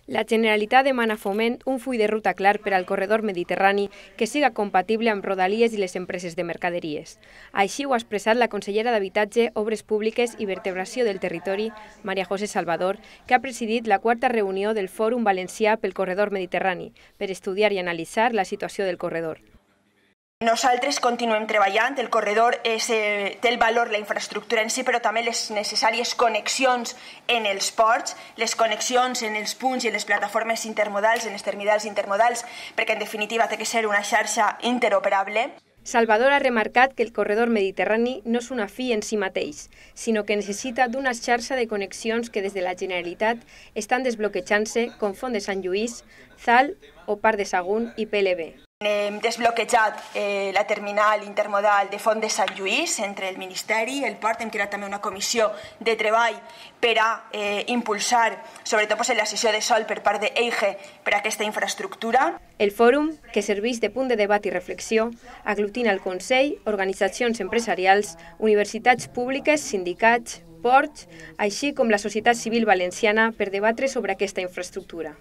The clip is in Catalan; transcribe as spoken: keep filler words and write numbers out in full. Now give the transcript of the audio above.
La Generalitat demana a Foment un full de ruta clar per al corredor mediterrani que siga compatible amb Rodalies i les empreses de mercaderies. Així ho ha expressat la consellera d'Habitatge, Obres Públiques i Vertebració del Territori, Maria José Salvador, que ha presidit la quarta reunió del Fòrum Valencià pel Corredor Mediterrani per estudiar i analitzar la situació del corredor. Nosaltres continuem treballant, el corredor és, eh, té el valor, la infraestructura en si, però també les necessàries connexions en els ports, les connexions en els punts i en les plataformes intermodals, en els terminals intermodals, perquè en definitiva té que ser una xarxa interoperable. Salvador ha remarcat que el corredor mediterrani no és una fi en si mateix, sinó que necessita d'una xarxa de connexions que des de la Generalitat estan desbloquejant-se com Font de Sant Lluís, Zall o Parc de Sagunt i P L B. Hem desbloquejat eh, la terminal intermodal de Font de Sant Lluís entre el Ministeri i el Port. Hem creat també una comissió de treball per a eh, impulsar, sobretot pues, en la sessió de sol per part d'EIGE per a aquesta infraestructura. El fòrum, que serveix de punt de debat i reflexió, aglutina el Consell, organitzacions empresarials, universitats públiques, sindicats, ports, així com la societat civil valenciana per debatre sobre aquesta infraestructura.